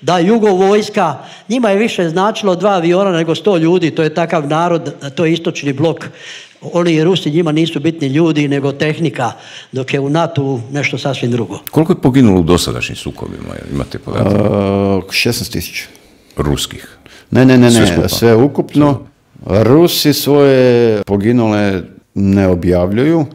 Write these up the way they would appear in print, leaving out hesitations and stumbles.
Da, Jugo vojska, njima je više značilo 2 aviona nego 100 ljudi, to je takav narod, to je istočni blok. Oni Rusi njima nisu bitni ljudi nego tehnika, dok je u NATO nešto sasvim drugo. Koliko je poginulo u dosadašnjim sukobima? Imate podatke? 16.000. Ruskih? Ne, sve ukupno. Rusi svoje poginule ne objavljuju,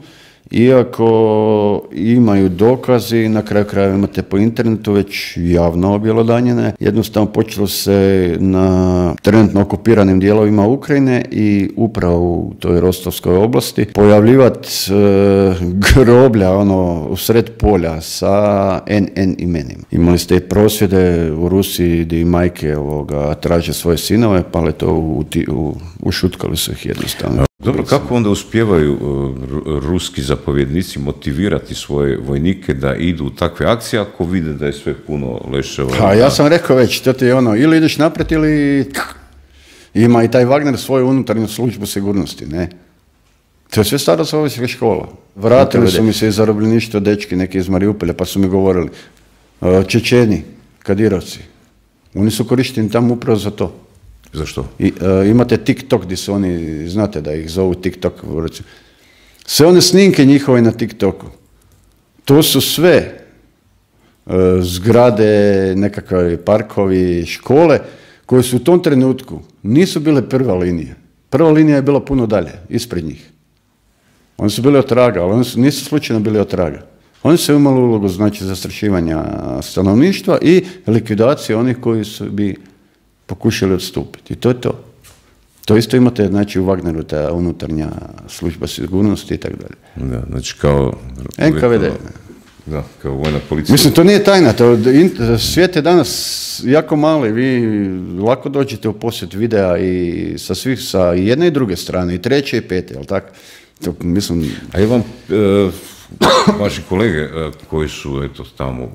iako imaju dokazi, na kraju krajeva imate po internetu već javno objelodanjene. Jednostavno počelo se na trenutno okupiranim dijelovima Ukrajine i upravo u toj Rostovskoj oblasti pojavljivati groblja u sred polja sa NN imenima. Imali ste i prosvjede u Rusiji gdje majke traže svoje sinove, pa ušutkali su ih jednostavno. Dobro, kako onda uspijevaju ruski zapovjednici motivirati svoje vojnike da idu u takve akcije ako vide da je sve puno leševa? Ja sam rekao već, to ti je ili ideš naprijed ili... Ima i taj Wagner svoju unutarnju službu sigurnosti, ne? To je sve stara sovjetska škola. Vratili su mi se iz zarobljeništva dečki, neki iz Mariupolja, pa su mi govorili, Čečeni, Kadirovci, oni su korišteni tamo upravo za to. Zašto? Imate TikTok gdje su oni, znate da ih zovu TikTok, sve one snimke njihove na TikToku, to su sve zgrade, nekakve parkovi, škole, koje su u tom trenutku nisu bile prva linija. Prva linija je bila puno dalje, ispred njih. Oni su bili otraga, ali oni nisu slučajno bili otraga. Oni su imali ulogu, znači, zastrašivanja stanovništva i likvidacije onih koji bi pokušali odstupiti. I to je to. To isto imate, znači, u Wagneru, ta unutarnja služba sigurnosti i tako dalje. Da, znači kao... NKVD. Da, kao vojna policija. Mislim, to nije tajna. Svijet je danas jako mali. Vi lako dođete u posjet videa i sa jedne i druge strane, i treće i pete, jel tako? To, mislim... A je vam, vaši kolege koji su, eto, tamo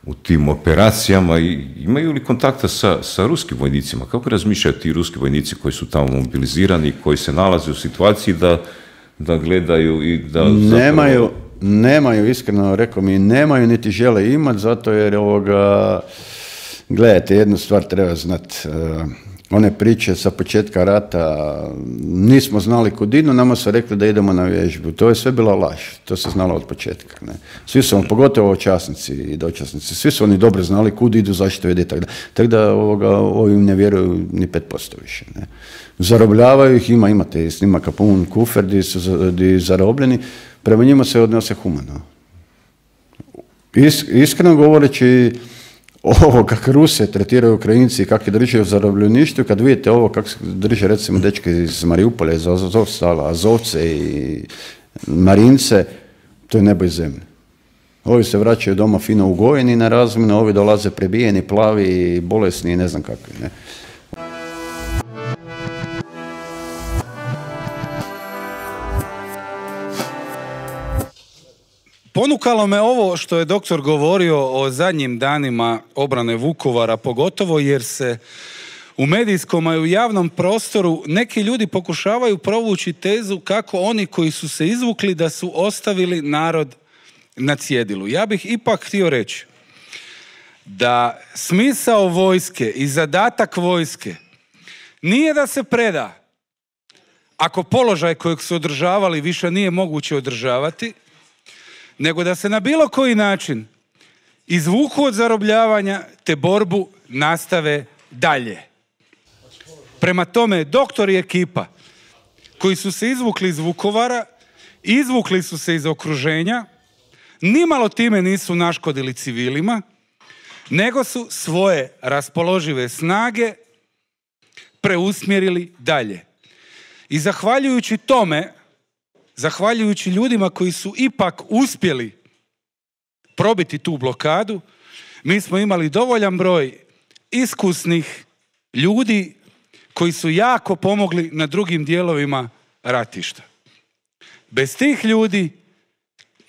u tim operacijama, imaju li kontakta sa ruskim vojnicima? Kako razmišljaju ti ruski vojnici koji su tamo mobilizirani, koji se nalaze u situaciji da gledaju i da... Nemaju, iskreno rekao mi, nemaju niti žele imati, zato jer gledajte, jednu stvar treba znati. One priče sa početka rata, nismo znali kud idu, nama su rekli da idemo na vježbu. To je sve bila laž, to se znalo od početka. Ne? Svi su, pogotovo časnici i dočasnici, svi su oni dobro znali kud idu, zašto ide i tako da. Tako da ovim ne vjeruju ni 5% više. Ne? Zarobljavaju ih, imate snimaka pun kufer gdje zarobljeni, prema njima se odnose humano. Iskreno govoreći, ovo kako Ruse tretiraju Ukrajinci i kako drže u zarobljeništvu, kad vidite ovo kako drže recimo dečke iz Mariupolja, iz Azovstala, Azovce i Marince, to je nebo i zemlja. Ovi se vraćaju doma fino ugojeni na razmjenu, ovi dolaze prebijeni, plavi, bolesni i ne znam kakvi. Ne? Ponukalo me ovo što je doktor govorio o zadnjim danima obrane Vukovara, pogotovo jer se u medijskom i u javnom prostoru neki ljudi pokušavaju provući tezu kako oni koji su se izvukli da su ostavili narod na cjedilu. Ja bih ipak htio reći da smisao vojske i zadatak vojske nije da se preda ako položaj kojeg su održavali više nije moguće održavati, nego da se na bilo koji način izvuku od zarobljavanja te borbu nastave dalje. Prema tome, doktor i ekipa koji su se izvukli iz Vukovara, izvukli su se iz okruženja, nimalo time nisu naškodili civilima, nego su svoje raspoložive snage preusmjerili dalje. I zahvaljujući tome, zahvaljujući ljudima koji su ipak uspjeli probiti tu blokadu, mi smo imali dovoljan broj iskusnih ljudi koji su jako pomogli na drugim dijelovima ratišta. Bez tih ljudi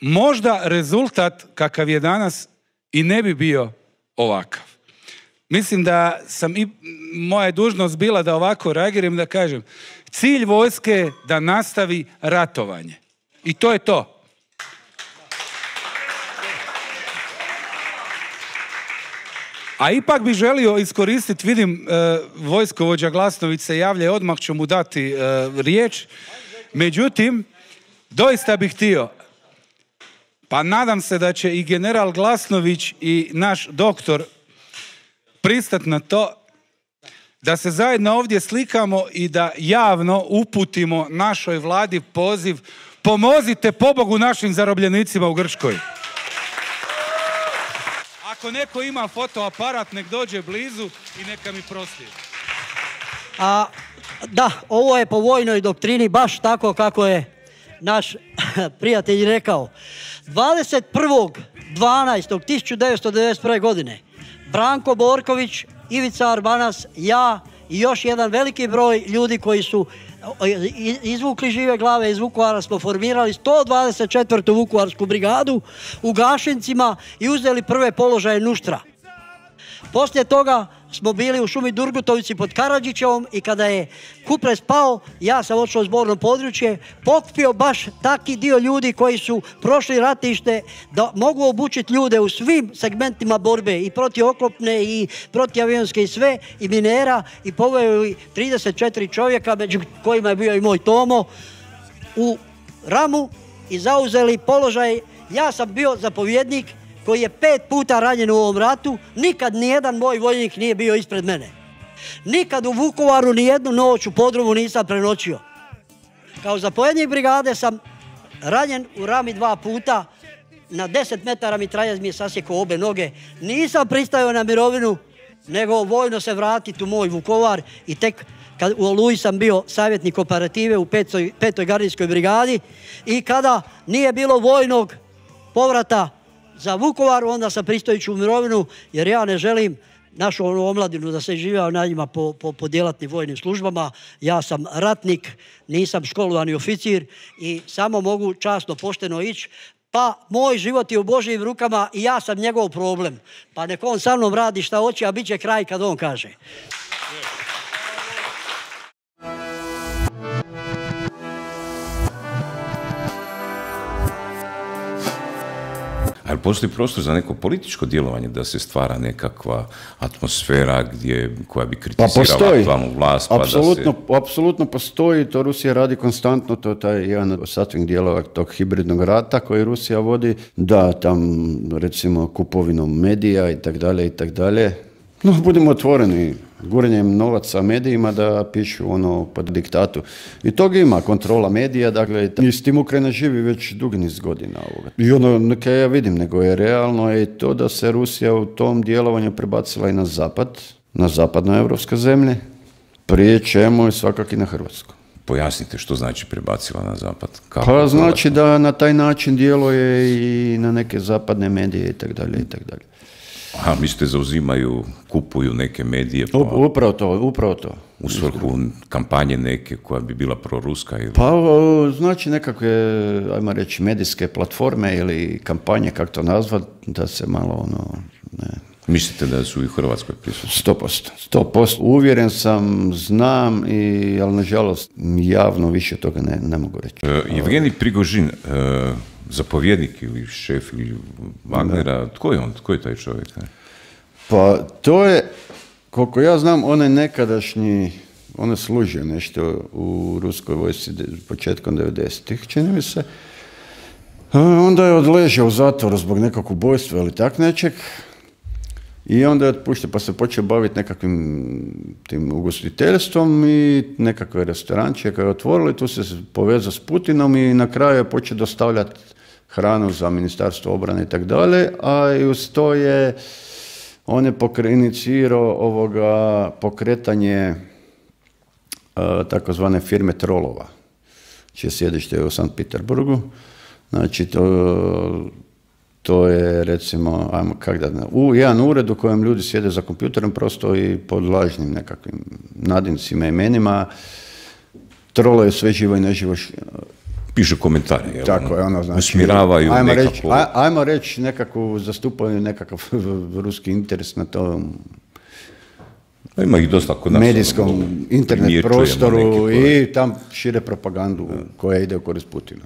možda rezultat kakav je danas i ne bi bio ovakav. Mislim da moja je dužnost bila da ovako reagiram, da kažem, cilj vojske je da nastavi ratovanje. I to je to. A ipak bih želio iskoristiti, vidim, vojskovođa Glasnović se javlja i odmah ću mu dati riječ. Međutim, doista bih htio, pa nadam se da će i general Glasnović i naš doktor pristati na to, da se zajedno ovdje slikamo i da javno uputimo našoj vladi poziv: pomozite pobogu našim zarobljenicima u Grčkoj. Ako neko ima fotoaparat, nek dođe blizu i neka mi proslijedi. Da, ovo je po vojnoj doktrini baš tako kako je naš prijatelj rekao. 21.12.1991. godine Branko Borković, Ivica Arbanas, ja i još jedan veliki broj ljudi koji su izvukli žive glave iz Vukovara smo formirali 124. Vukovarsku brigadu u Gašincima i uzeli prve položaje Nuštra. Poslije toga smo bili u šumi Durgutovici pod Karadžićevom i kada je Kupres pao, ja sam odšao u zborno područje, pokupio baš taki dio ljudi koji su prošli ratište da mogu obučiti ljude u svim segmentima borbe, i protioklopne i protiavionske i sve, i minera, i poveo 34 čovjeka, među kojima je bio i moj Tomo, u Ramu i zauzeli položaj. Ja sam bio zapovjednik koji je 5 puta ranjen u ovom ratu, nikad nijedan moj vojnik nije bio ispred mene. Nikad u Vukovaru nijednu noć u podrumu nisam prenoćio. Kao zapovjednik brigade sam ranjen u Rami 2 puta, na 10 metara mitraljez mi je sasjekao obe noge. Nisam pristajao na mirovinu, nego vojno se vratiti u moj Vukovar i tek kad u Oluji sam bio savjetnik operative u 5. gardijskoj brigadi i kada nije bilo vojnog povrata za Vukovar, onda sam pristojići u mirovinu, jer ja ne želim našu omladinu da se živio na njima po djelatnim vojnim službama. Ja sam ratnik, nisam školovani oficir i samo mogu časno, pošteno ići. Pa moj život je u Božjim rukama i ja sam njegov problem. Pa nek on sa mnom radi šta hoće, a bit će kraj kad on kaže. Ali postoji prostor za neko političko djelovanje, da se stvara nekakva atmosfera koja bi kritizirala aktualnu vlast? Apsolutno postoji, to Rusija radi konstantno, to je taj jedan od sastavnih dijelova tog hibridnog rata koji Rusija vodi, da tam recimo kupovinom medija i tak dalje. No, budemo otvoreni, guranjem novaca medijima da pišu ono pod diktatu. I toga ima, kontrola medija, dakle, i s tim Ukrajina živi već dugi niz godina ovoga. I ono, neka ja vidim, nego je realno je to da se Rusija u tom djelovanju prebacila i na zapad, na zapadnoevropske zemlje, prije čemu je svakako i na Hrvatsku. Pojasnite što znači prebacila na zapad. Pa znači da na taj način djeluje i na neke zapadne medije i tak dalje. Aha, mislite zauzimaju, kupuju neke medije? Upravo to. U svrhu kampanje neke koja bi bila proruska? Ili? Pa znači nekakve, ajmo reći, medijske platforme ili kampanje, kako to nazvat, da se malo Mislite da su i u Hrvatskoj prisutni? 100%. Uvjeren sam, znam, ali nažalost javno više toga ne mogu reći. Evgenij Prigožin, zapovjednik ili šef ili Wagnera, tko je on? Tko je taj čovjek? Pa to je, koliko ja znam, on je nekadašnji, on je služio nešto u ruskoj vojsci početkom 90-ih, čini mi se. Onda je odležao u zatvoru zbog nekog ubojstva ili tak nečeg. I onda je otpušten, pa se počeo baviti nekakvim tim ugostiteljstvom i nekakve restoranče koje je otvorili, tu se povezao s Putinom i na kraju je počeo dostavljati hranu za Ministarstvo obrane i tako dalje, a i uz to on je inicirao pokretanje takozvane firme Trolova, čije sjedište je u Sankt Peterburgu. Znači, to je, recimo, jedan ured u kojem ljudi sjede za kompjuterom prosto i pod lažnim nekakvim nadimcima, imenima. Troloje sve živo i neživo. Pišu komentare. Tako je, znači, usmjeravaju nekako. Ajmo reći nekako, zastupaju nekakav ruski interes na tom ima ih dosta kod nas. Medijskom, internet prostoru i tam šire propagandu koja ide u korist Putina.